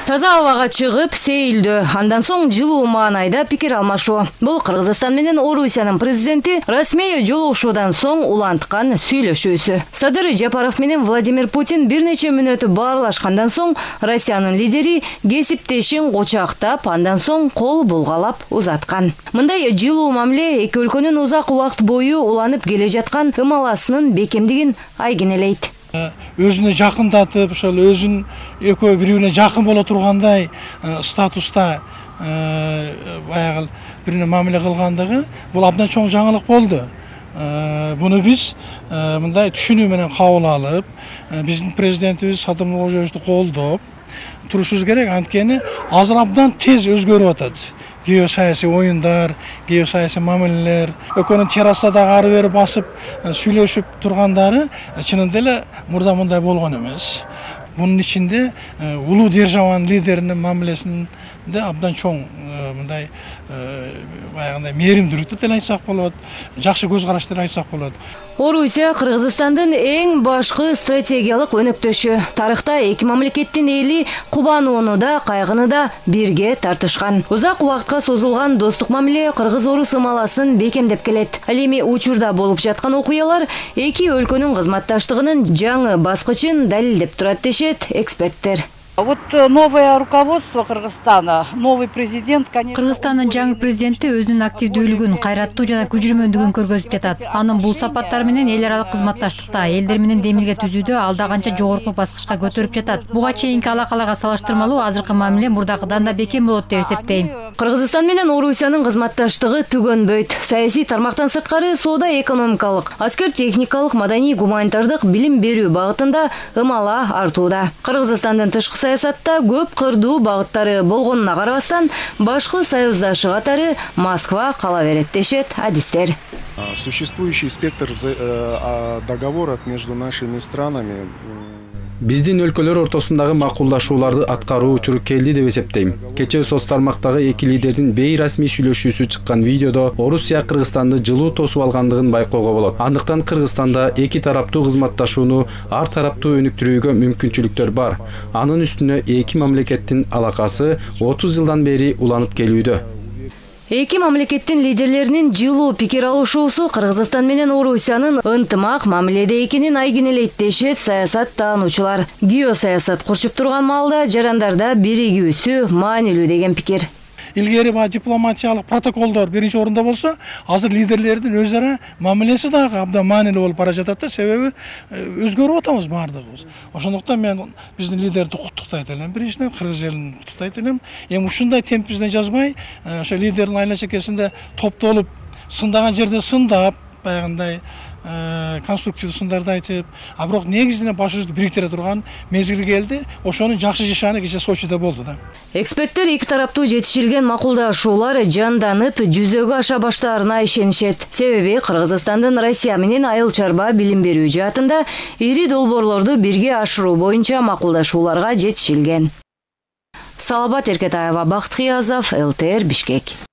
Таза абага чыгып, сейилдөө, андан соң жылуу маанайда пикир алмашуу. Бул Кыргызстан менен Орусиянын президенти расмий жолугушуудан соң уланткан сүйлөшүүсү. Садыр Жапаров менен Владимир Путин бир нече мүнөт баарлашкандан соң Россиянын лидери кесиптешин кочактап, андан соң кол булгалап узаткан. Мындай жылуу мамиле эки өлкөнүн узак убакыт бою уланып келе жаткан ымаласынын бекемдигин айгинелейт. Өзүнө жакындатып, ошол өзүн экөө бири-бирине жакын боло тургандай статуста баягы бирине мамиле кылгандыгы бул абдан чоң жаңылык болду. Буну биз мындай түшүнүү менен кабыл алып, биздин президентибиз Садыр Нуркожоевичти колдоп турушубуз керек. Анткени азыр абдан тез өзгөрүп атат. Геосаясий оюндар, геосаясий мамилелер, экөөнүн террасада ары бери басып сүйлөшүп тургандары чынында эле мурда мындай болгон эмес. Бунун ичинде улуу державанын лидеринин мамилесинде абдан чоң мындай баягындай мээримдүүлүк деп айтсак болот, жакшы көз караш деп айтсак болот. Орусия Кыргызстандын эң башкы стратегиялык өнөктөшү. Тарыхта эки мамлекеттин эли кубанууну да, кайгыны да бирге тартышкан. Узак убакытка созулган достук мамиле Кыргыз-Орус ымаласын бекемдеп келет. Ал эми учурда болуп жаткан окуялар эки өлкөнүн кызматташтыгынын жаңы баскычын далилдеп турат дешет эксперттер. Вот новое руководство Кыргызстана, новый президент, конечно. Кыргызстандын жаңы президенти өзүнүн активдүүлүгүн, кайраттуу жана күчүрмөндүгүн көргөзүп жатат. Анын бул сапаттары менен эл аралык кызматташтыкта элдер менен демилге түзүүдө алда канча жогорку баскычка көтөрүп жатат. Буга чейинки алакаларга салыштырмалуу азыркы мамиле мурдакыдан да бекем болот деп эсептейм. Кыргызстан менен Орусиянын кызматташтыгы түгөнбөйт. Саясий тармактан сырткары соода экономикалык, аскер техникалык, маданий гуманитардык билим берүү багытында ымала артууда. Кыргызстандын тышкы саясатта көп кырдуу багыттары болгонуна карабастан, башкы союздашы катары Москва кала берет дешет адистер. Существующий спектр договоров между нашими странами. Биздин өлкөлөр ортосундагы макулдашууларды аткаруу учуру келди деп эсептейм. Кечээ соц тармактагы эки лидердин бейрасмий сүйлөшүүсү чыккан видеодо Орусия Кыргызстанды жылуу тосуп алгандыгын байкоого болот. Андыктан Кыргызстанда эки тараптуу кызматташууну ар тараптуу өнүктүрүүгө мүмкүнчүлүктөр бар. Анын үстүнө эки мамлекеттин алакасы 30 жылдан бери уланып келүүдө. Эки мамлекеттин лидерлеринин жылуу пикир алышуусу Кыргызстан менен Орусиянын ынтымак мамиледе экенин айгинелейт дешет саясат таануучулар. Геосаясат курчуп турган маалда жарандарда биригүүсү маанилүү деген пикир. Илгери дипломатиялык протоколдор биринчи орунда болсо, азыр лидерлердин өз ара мамилеси дагы абдан маанилүү болуп бара жатат да, себеби өзгөрүп атабыз баардыгыбыз. Ошондуктан мен биздин лидерди куттуктайт элем, биринчиден Кыргыз элин куттуктайт элем. Эми ушундай темпибизден жазбай, ошо лидердин айла чекесинде топтолуп, сындаган жерде сындап, баягындай конструктивдүү сындарды айтып, а бирок негизинен башыбызды бириктире турган мезгил келди. Ошонун жакшы жашаны кечээ Сочиде болду да. Эксперттер эки тараптуу жетишилген макулдашуулар жанданып, жүзөгө аша баштаарына ишенишет. Себеби Кыргызстандын Россия менен айыл чарба билим берүү жаатында ири долбоорлорду бирге ашыруу боюнча макулдашууларга жетишилген. Салабат Эркетаева, Бакыт Кыязов, ЛТР, Бишкек.